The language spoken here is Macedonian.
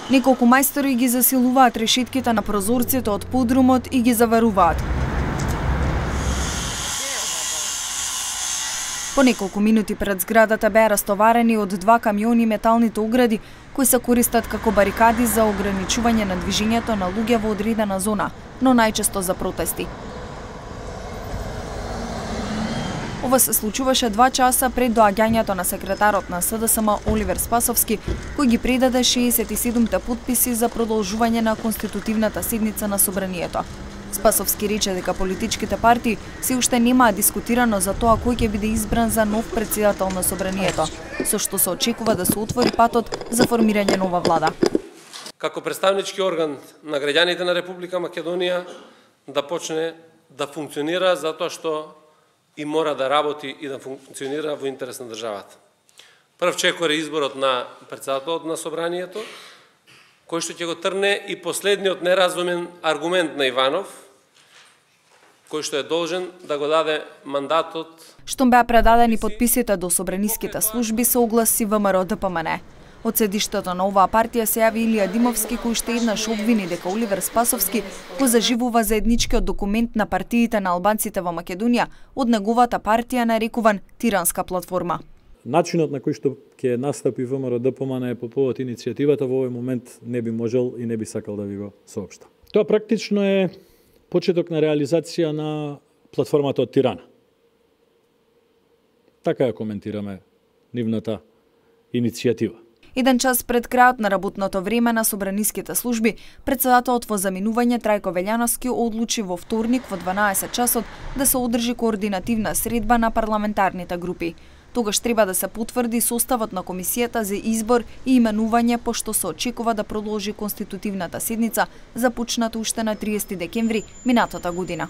Неколку мајстори ги засилуваат решетките на прозорците од подрумот и ги заваруваат. По неколку минути пред зградата беа растоварени од 2 камиони металните огради кои се користат како барикади за ограничување на движењето на луѓе во одредена зона, но најчесто за протести. Ова се случуваше 2 часа пред доаѓањето на секретарот на СДСМ Оливер Спасовски, кој ги предаде 67 потписи за продолжување на конститутивната седница на Собранието. Спасовски рече дека политичките партии се уште немаа дискутирано за тоа кој ќе биде избран за нов претседател на Собранието, со што се очекува да се отвори патот за формирање нова влада. Како представнички орган на граѓаните на Република Македонија да почне да функционира затоа што и мора да работи и да функционира во интерес на државата. Прв чекор е изборот на претседателот на Собранието, кој што ќе го трне и последниот неразумен аргумент на Иванов, кој што е должен да го даде мандатот. Штом беа предадени потписите до собраниските служби, се огласи ВМРО-ДПМН. Од седиштето на оваа партија се јави Илија Димовски, кој уште еднаш обвини дека Оливер Спасовски го заживува заедничкиот документ на партиите на албанците во Македонија од неговата партија нарекуван тиранска платформа. Начинот на кој што ќе настапи ВМРО-ДПМН по повод иницијативата во овој момент не би можел и не би сакал да ви го соопштам. Тоа практично е почеток на реализација на платформата од Тирана. Така ја коментираме нивната иницијатива. Еден час пред крајот на работното време на собраниските служби, претседателот во заминување Трајко Велјановски одлучи во вторник во 12 часот да се одржи координативна средба на парламентарните групи. Тогаш треба да се потврди составот на комисијата за избор и именување, пошто се очекува да продолжи конститутивната седница, започната уште на 30 декември минатата година.